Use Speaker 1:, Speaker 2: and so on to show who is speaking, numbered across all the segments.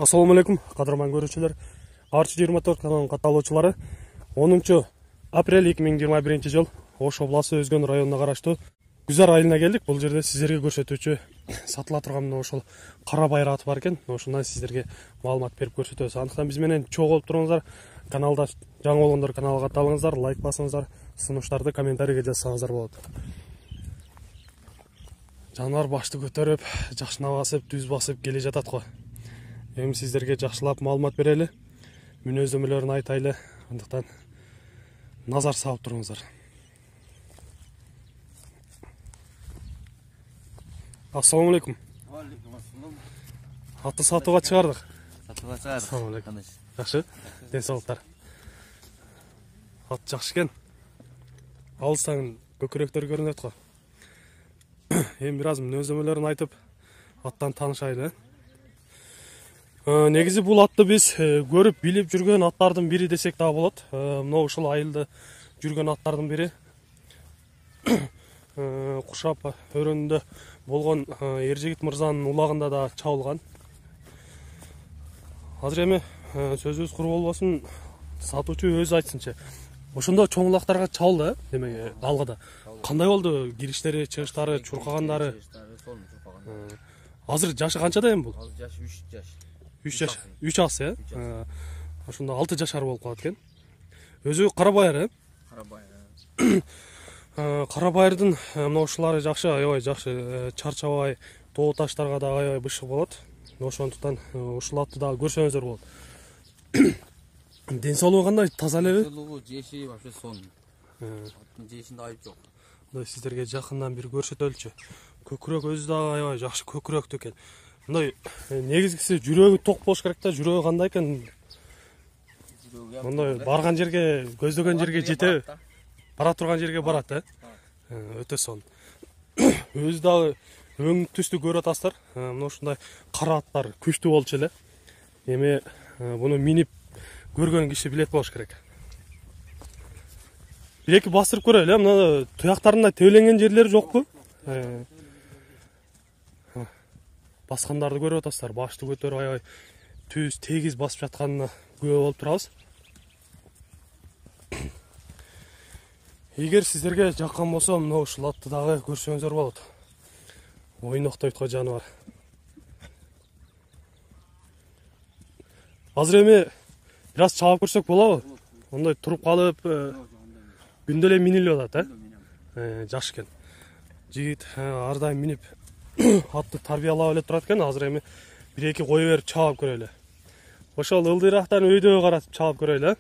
Speaker 1: Assalamu alaikum, qadrman görүүчүлөр. Archi 24 kanalынын катталуучулары. 10 апрель 2021 жыл Ош областы Өзгөн районуна караштуу Гүзар айылына келдик. Бул жерде сиздерге көрсөтүүчү сатыла турган ошол кара байыр аты бар экен. Ошондон сиздерге маалымат берип көрсөтөбүз. Андыктан биз менен чогуу болуп туруңуздар. Каналда жаңы болгондор каналга катталыңыздар, лайк басыңыздар, сунуштарды комментарийге жазсаңыздар болот. Жанар башты көтөрүп, жакшына басып, түз басып келе жатат го. Эми сиздерге жакшылап маалымат берели, мүнөздөмөлөрүн айтайлы. Андыктан назар салып туруңуздар. Assalamu alaikum.
Speaker 2: Алейкум ассалам.
Speaker 1: Атты сатууга чыгардык.
Speaker 2: Сатууга чыгардык.
Speaker 1: Assalamu alaikum. Жакшы, ден соолуктар. Ат жакшы экен. Алыстан көкүрөктөр көрүнөт го. Эми бир аз мүнөздөмөлөрүн айтып, аттан таанышайлы. Негизи бул атты биз көрүп билип жүргөн аттардын бири десек да болот. Мына ушул айылда жүргөн аттардын бири. Кушап өрөөнүндө болгон Эржигит мырзанын улагында да чабылган. Азыр эми сөзүбүз куру болбосун, сатуучу өзү айтсынчы. Ошондо чоң улактарга чабылды, демек алгыда. Кандай болду кириштери, чыгыштары, чуркагандары? Азыр жашы канчада эми бул?
Speaker 2: Азыр жашы 3 жаш.
Speaker 1: 3 жаш. 3 ас, ошондо 6 жашар болуп калат экен. Өзү кара байыр,
Speaker 2: Кара байыр.
Speaker 1: Кара байырдын мына ушулары жакшы, аябай жакшы, чарчабай, тоо таштарга да аябай бышык болот. Ошондуктан ушул атты дагы көрсөңүздөр болот. Ден соолугу кандай? Таза элеби?
Speaker 2: Соолугу, жеши вообще сон. Аттын жешинде айып жок.
Speaker 1: Мындай сиздерге жакындан бир көрсөтөлүчү. Көкүрөк өзү дагы аябай жакшы көкүрөктүү экен. Мындай негизгиси жүрөгү ток болуш керек да, жүрөгү кандай экен? Мындай барган жерге, көздөгөн жерге жетеби? Бара турган жерге барат, өтө сон. Өзү дагы өң түстү көрүп атасыздар. Мына ушундай кара аттар күчтүү болчу эле. Эми буну минип көргөн киши билет болуш керек. Бир эки бастырып көрөлү, мына туяктарында тебеленген жерлери жокпу? Баскандарды көрүп атасыздар. Башты көтөрүп аябай түз, тегиз басып жатканына күбө болуп турабыз. Эгер сиздерге жаккан болсо, мына ушул атты дагы көрсөңүздөр болот. Ойноктойт го жаныбар. Азыр эми бир аз чабып көрсөк болобу? Ондай туруп калып, күндө эле минилип атат, жакшы экен. Жигит ар дайым минип атты тарбиялап эле турат экен. Азыр эми бир эки кое берип чабып көрөлү. Ошол ылдыйрактан өйдөгө каратып чабып көрөлү.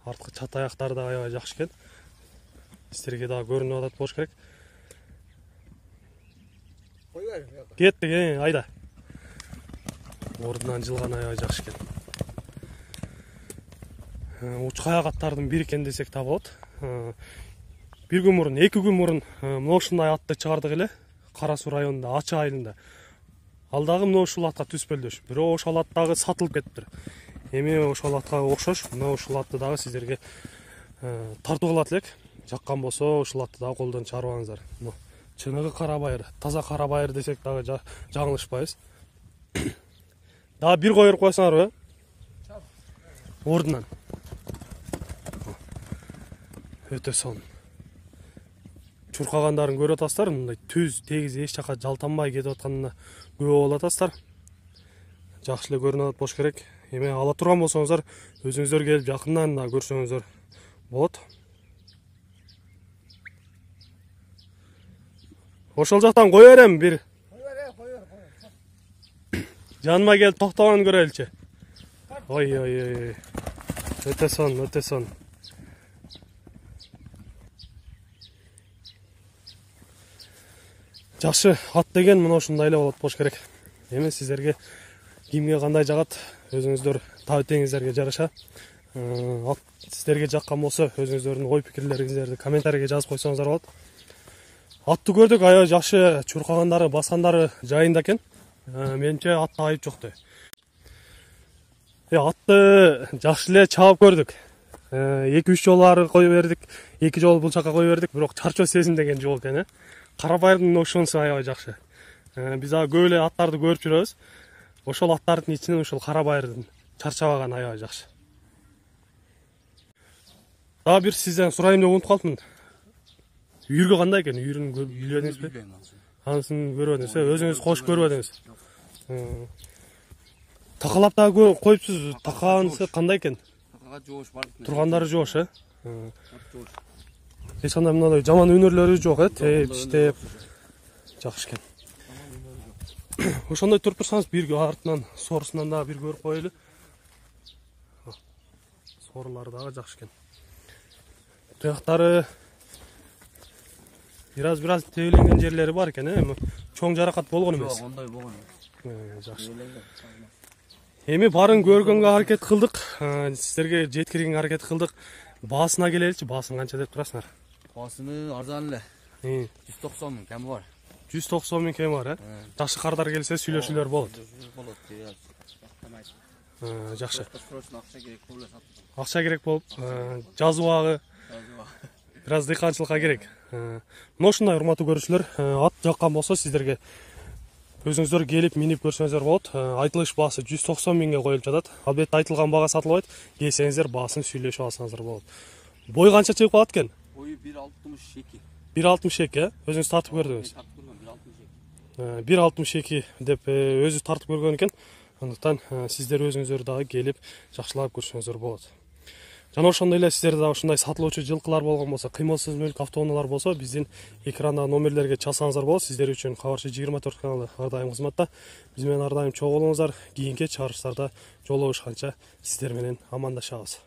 Speaker 1: Арткы чат аяктары да аябай жакшы экен. Сиздерге дагы көрүнүп атат болуш керек.
Speaker 2: Кой бер.
Speaker 1: Кеттик, айда. Ордунан жылган аябай жакшы экен. Учка аяк аттардын бири экен десек да болот. Бир күн мурун, 2 күн мурун мына ушундай атты чыгардык эле. Кара Суу районунда, Ачы айылында. Ал дагы мына ушул атка түспөлдөш. Бирок ошол ат дагы сатылып кетиптир. Эми ошол атка окшош, мына ушул атты дагы сиздерге тартуу кылат элек. Жаккан болсо, ушул атты дагы колдон чыгарбаңыздар. Чыныгы кара байыр, таза кара байыр десек дагы жаңылышпайбыз. Дагы бир койуп койсоңарбы? Ордунан. Өтө сон. Чуркагандарын көрүп атасыздар, мындай түз, тегиз, эч жака жалтанбай кетип атканына күбө болуп атасыздар. Жакшы эле көрүнүп атат болуш керек. Эми ала турган болсоңуздар, өзүңүздөр келип жакындан да көрсөңүздөр болот. Ошол жактан кое берем бир. Жаныма келип токтогонун көрөлүчү. Ой. Өтө сон, өтө сон. Жакшы, ат деген мына ушундай эле болот болуш керек. Эми сиздерге кимге кандай жагат, өзүңүздөр таап-теңиздерге жараша. Ат сиздерге жаккан болсо, өзүңүздөрдүн ой пикирлериңиздерди комментарийге жазып койсоңуздар болот. Атты көрдүк, аябай жакшы чуркагандары, баскандары жайында экен. Менимче атта айып жок да. Атты жакшы эле чабып көрдүк. 2-3 жолу кое бердик, 2 жолу бул жака кое бердик, бирок чарчоо сезилмеген жол экен. Кара байырдын ошонусу аябай жакшы. Биз дагы көп эле аттарды көрүп жүрөбүз. ошол аттардын ичинен ушул кара байырдын чарчабаганы аябай жакшы. Дагы бир сизден сурайын деп унутуп калыпмын. Үйүргө кандай экен? Үйүрүн билбедиңизби? Анысын көрбөдүңүз, өзүңүз кошуп көрбөдүңүз. Такалап дагы коюпсуз. Такаанысы кандай экен?
Speaker 2: Такага жоош бар.
Speaker 1: Тургандары жоош, Эч кандай мындай жаман өнөрлөрү жок, тээп, иштеп. Жакшы экен. Ошондой туруп турсаңыз, бир артынан соорусунан дагы бир көрүп коелу. Соорулары дагы жакшы экен. Тыяктары бир аз тебеленген жерлери бар экен, чоң жаракат болгон эмес.
Speaker 2: Жок, ондай болгон эмес.
Speaker 1: Жакшы. Эми барын көргөнгө аракет кылдык, сиздерге жеткиргенге аракет кылдык. Баасына келеличи, баасын канча деп турасыңар?
Speaker 2: Баасыны арзан эле. 190 миң кеми бар.
Speaker 1: 190 миң кеми бар, Жакшы кардар келсе сүйлөшүүлөр болот.
Speaker 2: Болот.
Speaker 1: Жакшы.
Speaker 2: Акча керек болуп сатып.
Speaker 1: Акча керек болуп, жазыбагы бир аз дыйканчылыкка керек. Мына ушундай урматтуу көрүүчүлөр, ат жаккан болсо сиздерге өзүңүздөр келип минип көрсөңүздөр болот. Айтылыш баасы 190 миңге коюлуп жатат. Албетте айтылган бага сатылбайт. Келсеңиздер баасын сүйлөшүп алсаңыздар болот. Бой канча чыгып калат экен?
Speaker 2: Бою 1.62.
Speaker 1: 1.62, Өзүңүз тартып көрдүңүз. 1.62 деп өзү тартып көргөн экен. Андыктан сиздер өзүңүздөр дагы келип жакшылап көрсөңүздөр болот. Жана ошондой эле сиздерде дагы ушундай сатылуучу жылкылар болгон болсо, кыймылсыз мүлк автоунаалар болсо, биздин экрандагы номерлерге чалсаңыздар болот. Сиздер үчүн Кабарчы 24 каналы ар дайым кызматта. Биз менен ар дайым чогуу болуңуздар. Кийинки чыгарылыштарда жолугушканча сиздер менен амандашабыз.